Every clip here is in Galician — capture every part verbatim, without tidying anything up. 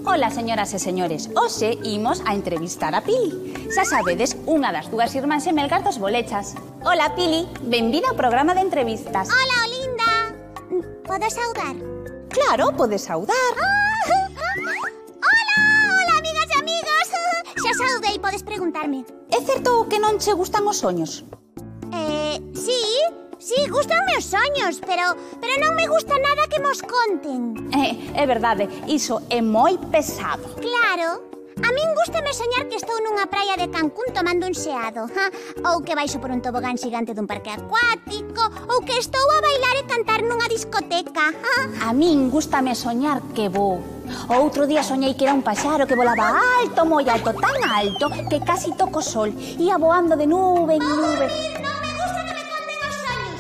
Ola, señoras e señores, hoxe imos a entrevistar a Pili. Xa sabedes, unha das dúas irmáns Emelgar dos Bolechas. Ola, Pili, benvida ao programa de entrevistas. Ola, Olinda. Podo saudar? Claro, podes saudar. Ola, ola, amigas e amigos. Xa saudei, podes preguntarme. É certo que non che gustan os soños? Eh, sí, sí, gustanme os soños, pero, pero non me gusta nada que mos conten. É, é verdade, iso é moi pesado. Claro. A min gústame soñar que estou nunha praia de Cancún tomando un xeado, ha? Ou que baixo por un tobogán xigante dun parque acuático, ou que estou a bailar e cantar nunha discoteca. Ha? A min gústame soñar que vou. O outro día soñei que era un paxaro que volaba alto, moi alto, tan alto que casi toco o sol. Ia voando de nube en nube. Dormir, non me gusta que me conten os soños.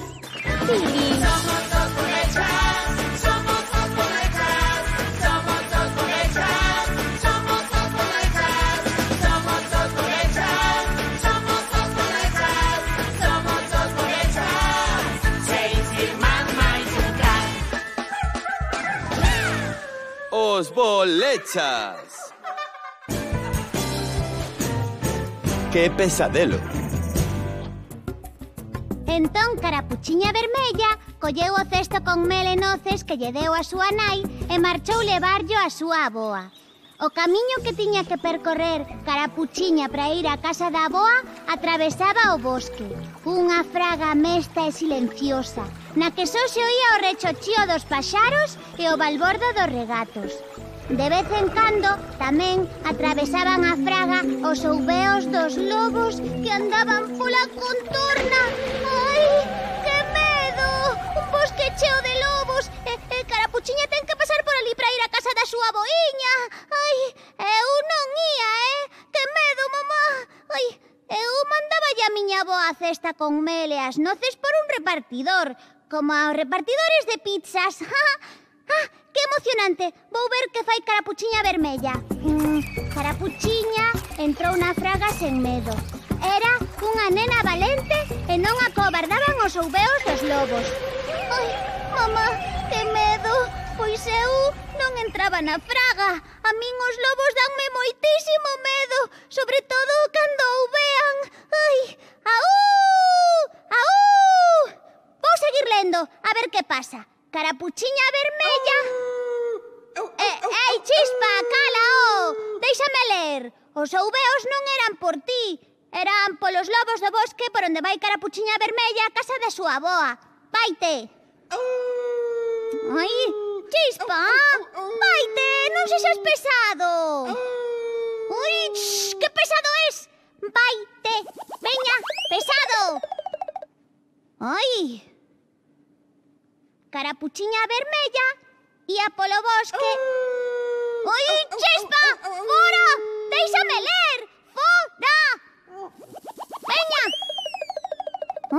Pili. Somos dos bolechas, somos dos bolechas, somos dos bolechas, somos dos bolechas, somos dos bolechas, somos dos bolechas, somos dos bolechas, seis irmás máis un can. Os bolechas. Que pesadelo. Entón, Carapuchiña Vermella colleu o cesto con mel e noces que lle deu a súa nai e marchou levarllo a súa avoa. O camiño que tiña que percorrer Carapuchiña para ir á casa da avoa atravesaba o bosque, unha fraga mesta e silenciosa, na que só se oía o rechochío dos paxaros e o balbordo dos regatos. De vez en cando, tamén atravesaban a fraga os ouveos dos lobos que andaban pola contorna. Ai, que medo! Un bosque cheo de lobos e, e Carapuchiña ten que pasar por ali para ir á casa da súa boiña. Ai, eu non ía, eh? Que medo, mamá! Ai, eu mandáballe a miña avó a cesta con mel e as noces por un repartidor, como aos repartidores de pizzas. Ah, que emocionante! Vou ver que fai Carapuchiña Vermella. Mm, Carapuchiña entrou na fraga sen medo. Era unha nena valente e non a cobardaban os ouveos dos lobos. Ai, mamá, que medo! Pois eu non entraba na fraga. A min os lobos danme moitísimo medo, sobre todo cando ouvean. Ai, aú! Aú! Vou seguir lendo, a ver que pasa. Carapuchiña Vermella... Eh, ei, Chispa, cala-o! Déixame ler. Os ouveos non eran por ti. Eran polos lobos do bosque por onde vai Carapuchiña Vermella a casa da súa avoa. Vaite! Ai, Chispa! Vaite, non sexas pesado! Ui, shh, que pesado es! Vaite! Veña, pesado! Ai... Carapuchiña Vermella ía polo bosque. Oi, Chispa! Fora! Déixame ler! Fora! Veña!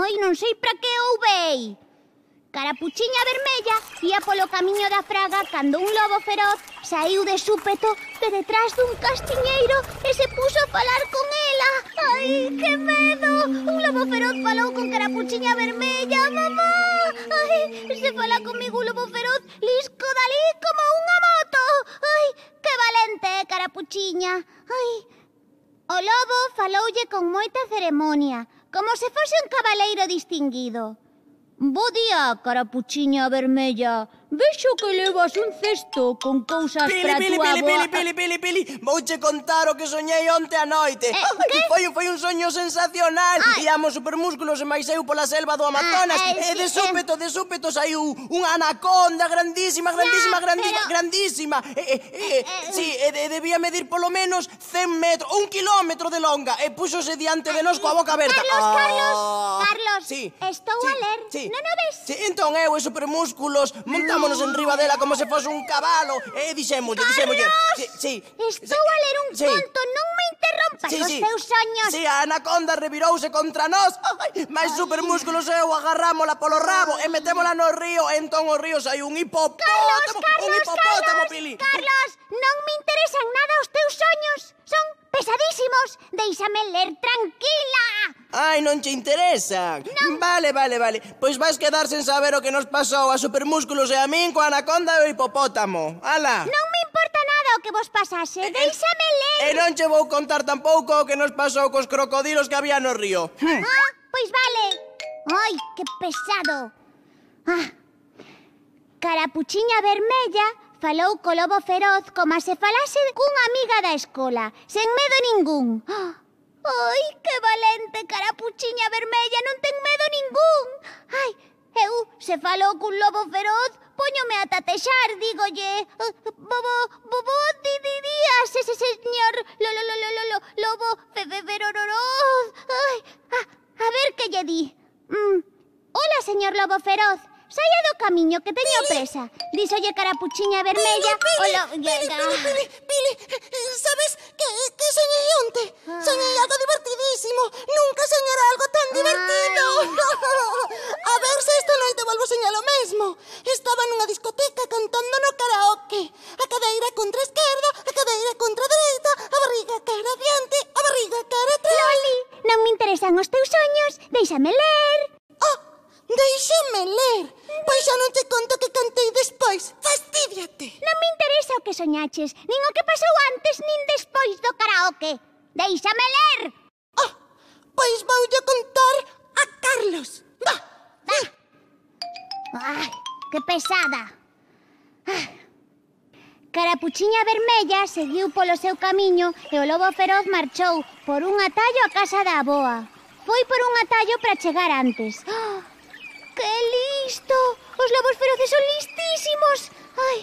Ai, non sei para que ouvei. Carapuchiña Vermella ía polo camiño da fraga cando un lobo feroz saiu de súpeto de detrás dun castiñeiro e se puxo a falar con ela. Ai, que medo! Un lobo feroz falou con Carapuchiña Vermella, mamá! Ai, se fala comigo un lobo feroz, lisco dalí como unha moto. Ai, que valente é Carapuchiña. Ai, o lobo faloulle con moita ceremonia, como se fose un cabaleiro distinguido. Bo día, Carapuchiña Vermella. Vexo que levas un cesto con cousas Pili, para Pili, túa Pili, avoa. Pili, Pili, Pili, Pili, vouche contar o que soñei onte a noite. Eh, Ai, que? Foi, foi un soño sensacional. Ai. Íamos supermúsculos e máis eu pola selva do Amazonas. Ah, eh, E de sí, súpeto, de súpeto saiu unha anaconda grandísima, grandísima, Ya, grandísima, pero- grandísima. E, e, e, sí, e de, debía medir polo menos cen metros, un kilómetro de longa. E púxose diante de nós coa boca aberta. Carlos, Carlos, Ah, Carlos, sí, estou sí, a ler. sí. Non o ves? Sí, entón eu e supermúsculos montámonos en riba dela como se fose un cabalo. E dixémolle, dixémolle. Sí, sí. Estou a ler un Sí. conto, non me interrompas Sí, os sí. teus soños. Sí, a anaconda revirouse contra nós. Ai, máis supermúsculos e eu agarrámola polo rabo e metémola no río. E entón o río saiu un hipopótamo. Carlos, un Carlos, hipopótamo, Carlos, Pili. Carlos, non me interesan nada os teus soños. Son pesadísimos. Déixame ler tranquila. Ai, non che interesan? Non. Vale, vale, vale. Pois vais quedar sen saber o que nos pasou a supermúsculos e a min coa anaconda e o hipopótamo. Ala. Non me importa nada o o que vos pasase? Déixame ler. E non che vou contar tampouco o que nos pasou cos crocodilos que había no río. Hm. Ah, pois vale. Ai, que pesado. Ah. Carapuchiña Vermella falou co lobo feroz como se falase cunha amiga da escola, sen medo ningún. Ai, que valente, Carapuchiña Vermella, non ten medo ningún. Ai, eu, se falou cun lobo feroz, póñome a tatexar, dígolle. Bobo, bobo, di, di, días, ese señor, lo, lo, lo, lo, lo, lo, lobo, fe, fe, feroroz. Ai, a, a ver que lle di. Mm. Hola, señor lobo feroz. Saia do camiño que teño presa. Dísolle Carapuchiña Vermella. Pili, o lo... Pili, Pili, Pili, Pili, sabes que, que soñei onte? Ah. Soñei algo divertidísimo. Nunca soñara algo tan divertido. A ver se esta noite volvo a soñar o mesmo. Estaba nunha discoteca cantando no karaoke. A cadeira contra a esquerda, a cadeira contra a dereita, a barriga cara adiante, a barriga cara atrás. Loli, non me interesan os teus soños. Déixame ler. Ah, déixame ler. Pois xa non te conto que cantei despois. Fastídiate. Non me interesa o que soñaches, nin o que pasou antes nin despois do karaoke. Déixame ler. Ah, pois voulle contar a Carlos. Va. Ai, que pesada. Ah. Carapuchiña Vermella seguiu polo seu camiño e o lobo feroz marchou por un atallo á casa da avoa. Foi por un atallo para chegar antes. ¡Oh! ¡Que listo! Os lobos feroces son listísimos. Ai,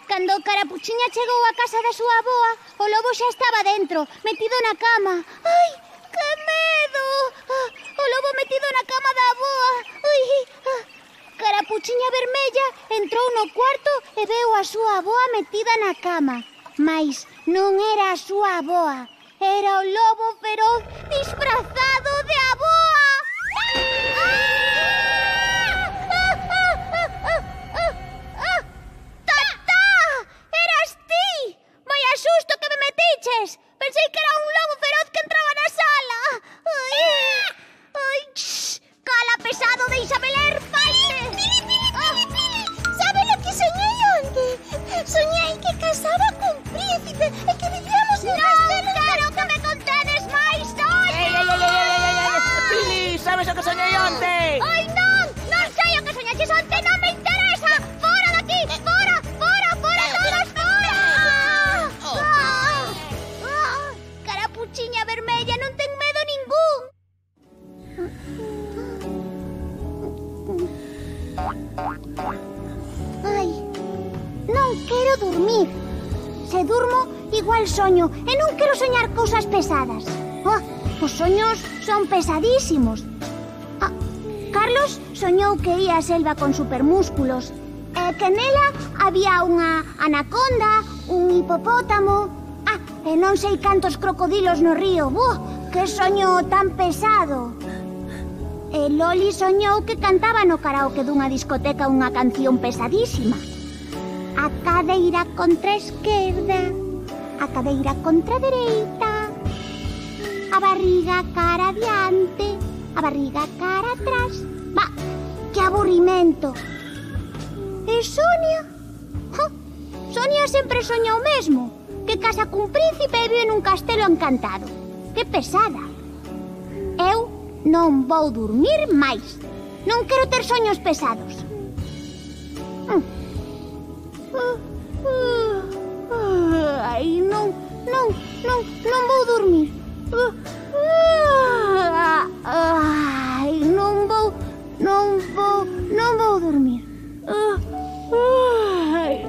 cando Carapuchiña chegou á casa da súa avoa, o lobo xa estaba dentro, metido na cama. Ai, que medo! Ah, o lobo metido na cama da avoa. Ai, ah. Carapuchiña Vermella entrou no cuarto e veu a súa avoa metida na cama. Mais non era a súa avoa, era o lobo feroz disfrazado de avoa. ¡Tatá! Eras ti! Vaya susto que me metiches! Pensei que era un lobo feroz que entraba na sala. Ai, ai, shh, cala, pesado, déixame ler, faite. Pili, Pili, Pili, Pili. Sabe lo que soñei onte? Soñei que casaba cun príncipe e que vivíamos en Non quero que me contedes máis, non! Ei, ei, ei, ei, ei, ei, ei, Pili, sabes o que soñei onte? Ai, non! Non sei o que soñaches onte, non me interesa! Fora daqui! Fora! Fora! Fora todos! Fora! Ah, ah, Carapuchiña Vermella non ten medo ningún! Ai, non quero dormir. Se durmo, igual soño e non quero soñar cousas pesadas. Oh, os soños son pesadísimos. Ah, Carlos soñou que ía a selva con supermúsculos e que nela había unha anaconda, un hipopótamo, ah, e non sei cantos crocodilos no río. Buah, que soño tan pesado. E Loli soñou que cantaba no karaoke dunha discoteca unha canción pesadísima. A cadeira contra a esquerda, a cadeira contra a dereita, a barriga cara adiante, a barriga cara atrás. Va, que aburrimento. E Sonia? Ja, Sonia sempre soña o mesmo, que casa cun príncipe e vive nun castelo encantado. Que pesada. Eu non vou dormir máis. Non quero ter soños pesados. Ai, non, non, non, non vou dormir. Ai, non vou, non vou, non vou dormir. Ai,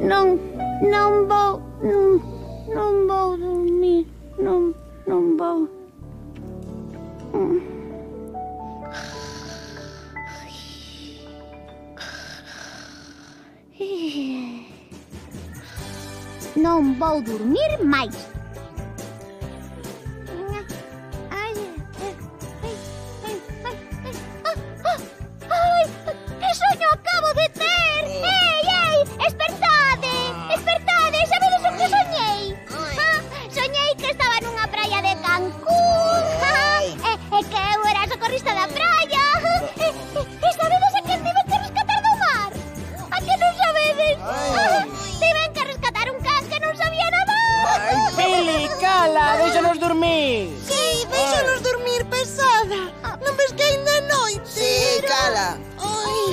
non, non vou, non vou dormir. Non, non vou. Non vou dormir máis. Ai, ai, que soño acabo de ter! Ei, ei, espertade, espertade, sabedes o que soñei? Ah, soñei que estaba nunha praia de Cancún, e, e que eu era a socorrista da praia. E, e, e sabedes a quen tive que rescatar do mar? A que non sabedes? Ah, tiven que rescatar un can que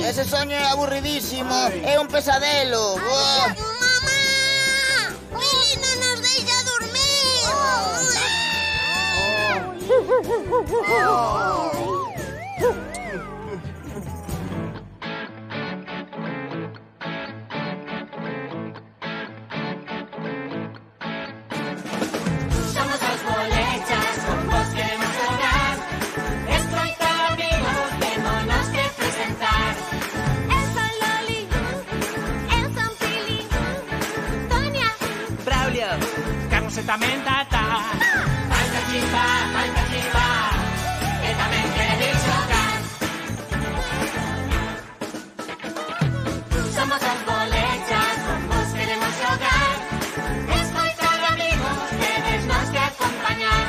Ese soño é aburridísimo. É un pesadelo. Oh. ¡Mamá! ¡Pili no nos deixa dormir! Somos os bolechas, con vos queremos xogar. Escoitar amigos, vémonos que presentar. Eu son Loli. Eu son Pili. Tonia. Braulio. Carlos e tamén Tata. Vai cachimba, vai cachimba, que tamén queredes xogar. Somos os bolechas, con vos queremos xogar. Escoitar amigos, tedes nos que acompañar.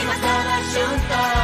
Imos todos xuntos